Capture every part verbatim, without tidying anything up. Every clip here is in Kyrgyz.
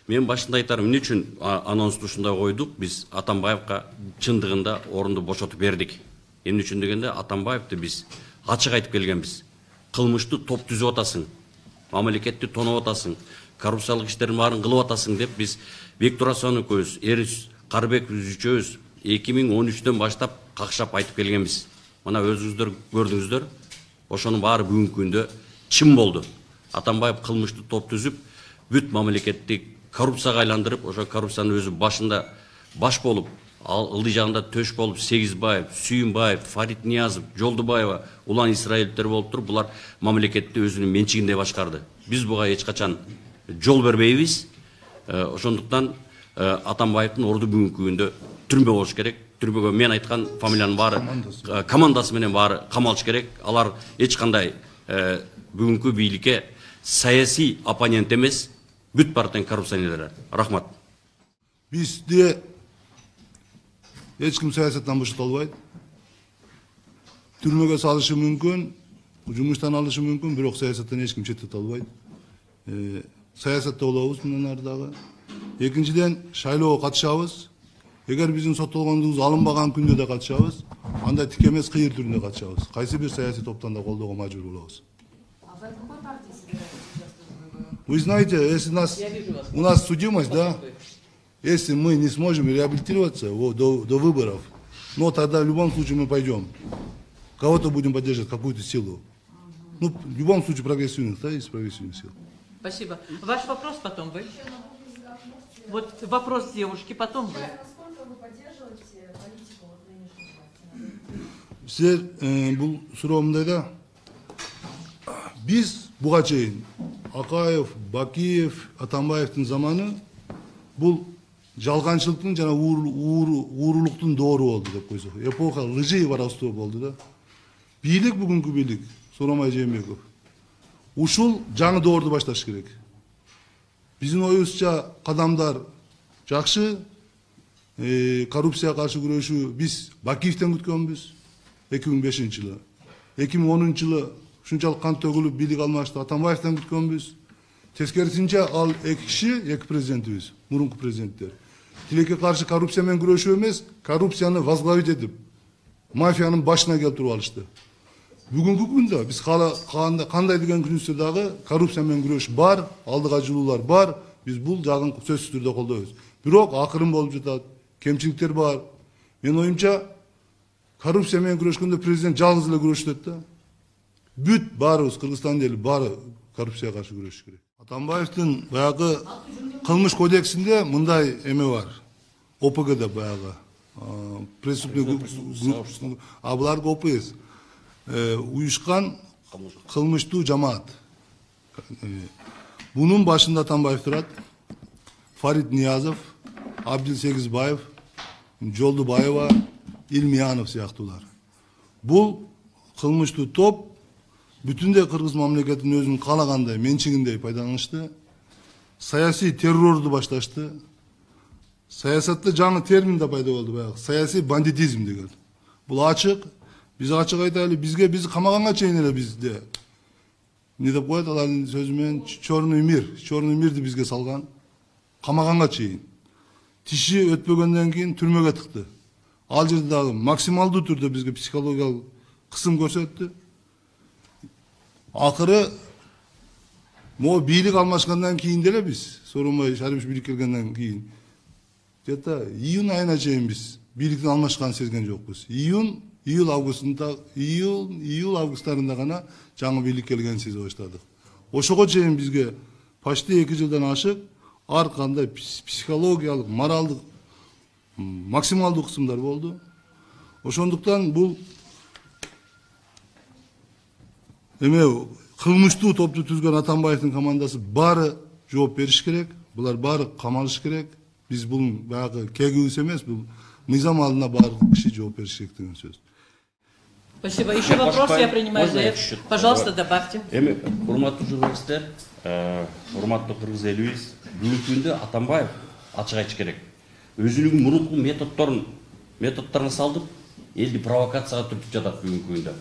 Мен башында айтарым, эмне үчүн анонсту ушундай койдук? Биз Атамбаевка чындыгында орунду бошотуп бердик. Эмне үчүн дегенде, Атамбаевди биз ачык айтып келгенбиз. Кылмыштуу топ түзүп атасың, мамлекетти тоноп атасың, коррупциялык иштердин баарын кылып атасың деп биз Бектур Асан экөөбүз, Эрис Карбеков үчөөбүз эки миң он үчтөн баштап какшап айтып келгенбиз. Мына өзүңүздөр көрдүңүздөр, ошонун баары бүгүнкү күндө чын болду. Атамбаев кылмыштуу топ түзүп, бүт мамлекетти коррупцияга айландырып, ошо коррупциянын өзү башында баш болуп, ылдый жагында төш болуп, Сегизбаев, Сүйүнбаев, Фарид Ниязов, Жолдубаева, улан Исраилдер болуп туруп, булар мамлекетти өзүнүн менчигинде башкарды. Биз буга эч качан жол бербейбиз. Ошондуктан Атамбаевдин орду бүгүнкү күндө түрмө болуш керек. Түрмөгө мен айткан фамилиянын баары, командасы менен баары камалыш керек. Алар эч кандай бүгүнкү бийликке саясий оппонент эмес, бүт партиянын коррупционерлери. Рахмат. Бизде эч ким саясаттан бошотолбойт. Түрмөгө салышы мүмкүн, жумуштан алышы мүмкүн, бирок саясаттан эч ким четтете албайт. Саясатта болобуз мындан ары дагы. Экинчиден, шайлоого катышабыз. Эгер биздин соттолгондугубуз алынбаган күндө да катышабыз, анда тик эмес кыйыр түрүндө катышабыз. Кайсы бир саясий топтон да колдоого мажбур болобуз. А вы в какой партии собираетесь? Вы знаете, если нас, у нас судимость, да, если мы не сможем реабилитироваться вот, до, до выборов, но тогда в любом случае мы пойдем. Кого-то будем поддерживать, какую-то силу. Ну, в любом случае прогрессивных, да, есть прогрессивных сил. Спасибо. Ваш вопрос потом вы. Вот вопрос девушки, потом вы. Насколько вы поддерживаете политику вот нынешней партии? Сіздер бұл суроомундай да, биз буга чейин Акаев, Бакиев, Атамбаевдин заманы бул жалганчылыктын жана уурулуктун доору болду деп койсок. Эпоха лжи и воровства болду да. Бийлик бүгүнкү бийлик, Сооронбай Жээнбеков, ушул жаңы доорду башташ керек. Биздин оюбузча кадамдар жакшы, коррупцияга каршы күрөшүү биз Бакиевден күткөнбүз эки миң бешинчи жылы. эки миң онунчу жылы ушунчалык кан төгүлүп бийлик алмашты, Атамбаевден күткөнбүз. Тескерисинче ал эки киши, эки президентибиз, мурунку президенттер. Тилекке каршы коррупция менен күрөшүү эмес, коррупцияны возглавить этип, мафиянын башына келтирип алышты. Бүгүнкү күндө биз кандай деген күнүстө дагы коррупция менен күрөш бар, алдыга жылуулар бар, биз бул жагын сөзсүз түрдө колдойбуз. Бирок акырын болуп жатат, кемчиликтер бар. Менин оюмча, коррупция менен күрөшкөндө президент жалгыз эле күрөшөт да. Бүт баарыбыз Кыргызстандын эли баары коррупцияга каршы күрөшүш керек. Атамбаевдин баягы кылмыш кодексинде мындай эме бар. О П Г'де баягы преступный, а булар О П С. Уюшкан кылмыштуу жамаат. Бунун башында Атамбаев турат, Фарид Ниязов, Абдил Сегизбаев, Жолдубаева, Илмиянов сыяктуулар. Бул кылмыштуу топ бүтүндөй кыргыз мамлекетинин өзүнүн каалагандай менчигиндей пайдаланышты, саясий террорду башташты. Саясатта жаңы термин да пайда болду, баягы саясий бандитизм деген. Бул ачык. Биз ачык айтайлы, бизге биз камаганга чейин эле бизде не деп коет алардын сөзү менен черный мир, черный мирди бизге салган. Камаганга чейин. Тиши өтпөгөндөн кийин түрмөгө тыкты. Ал жерде дагы максималдуу түрдө бизге психологиялык кысым көрсөттү. Акыры могу бийлик алмашкандан кийин деле биз, Сооронбай Шарипович бийлик келгенден кийин, где-то июнь айына чейин биз бийликтин алмашканын сезген жокпуз. Июнь, июль августунда, июль, июль августтарында гана жаңы бийлик келгенин сезе баштадык. Ошого чейин бизге почти эки жылдан ашык ар кандай психологиялык, моралдык максималдуу кысымдар болду. Ошондуктан бул эме кылмыштуу топту түзгөн Атамбаевдин командасы баары жооп бериш керек. Булар баары камалыш керек. Биз бул баягы кегибиз эмес, бул мыйзам алдында баары киши жооп бериш керек деген сөз. Спасибо. Еще вопрос я принимаю за Пожалуйста, добавьте. Эми, урматтуу журналисттер, урматтуу кыргыз элибиз, бүгүнкү күндө Атамбаев ачык айтыш керек. Өзүнүн мурунку методдорун методдорун салдып, элди провокацияга түртүп жатат бүгүнкү күндө.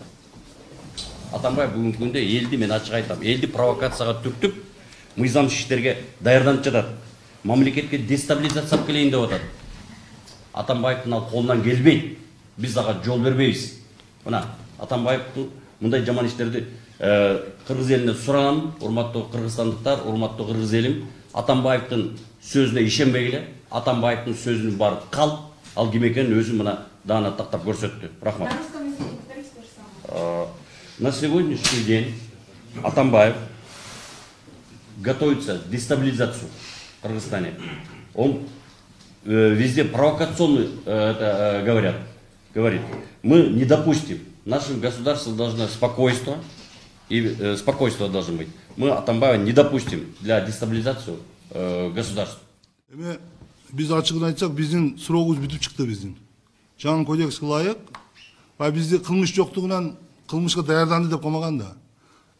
Атамбаев бүгүнкү күндө элди, мен ачык айтам, элди провокацияга түртүп, мыйзамсыз иштерге даярданып жатат. мамлекетке дестабилизация алып келейин деп атат. Атамбаевдин ал колунан келбейт. Биз ага жол бербейбиз. Мына Атамбаевдин мындай жаман иштерди кыргыз элине суранам, урматтуу кыргызстандыктар, урматтуу кыргыз элим, Атамбаевдин сөзүнө ишенбегиле. Атамбаевдин сөзүнүн баары калп, ал ким экенин өзү мына даана тактап көрсөттү. Рахмат. На сегодняшний день Атамбаев готовится к дестабилизации в Кыргызстане. Он э, везде провокационно э, это, э, говорят, говорит. Мы не допустим. В нашем государстве должно спокойство, и э, спокойство должно быть. Мы Атамбаева не допустим для дестабилизации э, государства. Эми биз ачыгын айтсак, биздин суроогубуз бүтүп чыкты биздин. Жаңы кодекске ылайык, а бизде кылмыш жоктугунан кылмышка даярданды деп коймаган да.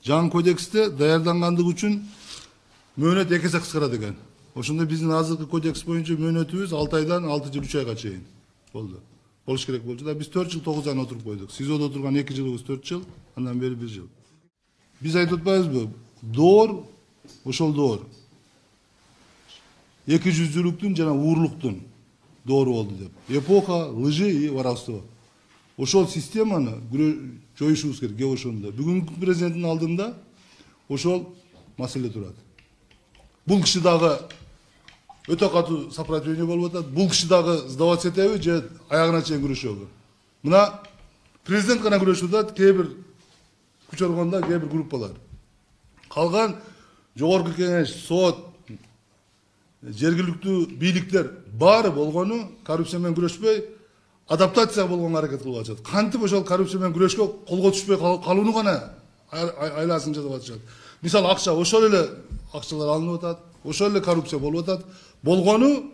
Жаңы кодексте даярдангандыгы үчүн мөөнөт эки эсе кыскарат экен. Ошондо биздин азыркы кодекс боюнча мөөнөтүбүз алты айдан алты жыл үч айга чейин болду. Болуш керек болчу да, биз төрт жыл тогуз айдан отуруп койдук. СИЗОдо отурган эки жылыбыз төрт жыл, андан бери бир жыл. Биз айтып атпайбызбы? Доор, ошол доор. Эки жүздүүлүктүн жана уурлуктун доору болду деп. Эпоха лжи и воровства. Ошол системаны жоюшубуз керек, кеп ошондо. Бүгүнкү президенттин алдында ошол маселе турат. Бул киши дагы өтө катуу сопротивление болуп атат. Бул киши дагы сдаваться этеби же аягына чейин күрөшөбү? Мына президент гана күрөшүп атат, кээ бир күч органдар, кээ бир группалар. Калган жогорку кеңеш, сот, жергиликтүү бийликтер баары болгону коррупция менен күрөшпөй, адаптация болгонго аракет кылып атышат. Кантип ошол коррупция менен күрөшкө колго түшпөй калууну гана айласын жасап атышат. Мисалы акча, ошол эле акчалар алынып атат, ошол эле коррупция болуп атат. Болгону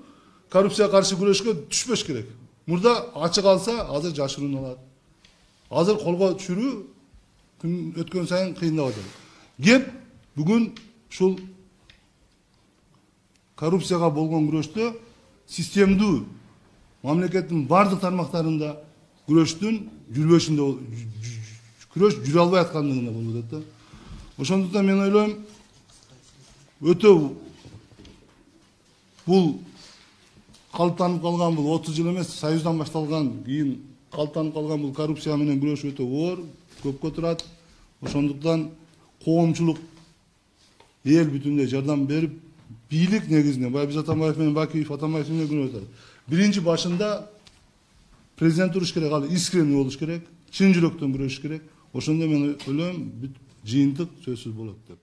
коррупцияга каршы күрөшкө түшпөш керек. Мурда ачык алса, азыр жашыруун алат. Азыр колго түшүрүү күн өткөн сайын кыйындап атат. Кеп бүгүн ушул коррупцияга болгон күрөштө системдүү мамлекеттин бардык тармактарында күрөштүн жүрбөшүндө күрөш жүрө албай аткандыгында болуп атат да. Ошондуктан мен ойлойм, өтө бул калыптанып калган, бул отуз жыл эмес, Союздан башталган, кийин калыптанып калган бул коррупция менен күрөш өтө оор, көпкө турат. Ошондуктан коомчулук эл бүтүндөй жардам берип, бийлик негизинен, баягы биз Атамбаев менен Бакиев, Атамбаев менен күнөө атат. Биринчи башында президент туруш керек, ал искренний болуш керек, чын жүрөктөн күрөшүш керек. Ошондо мен ойлойм, бүт жыйынтык сөзсүз болот деп.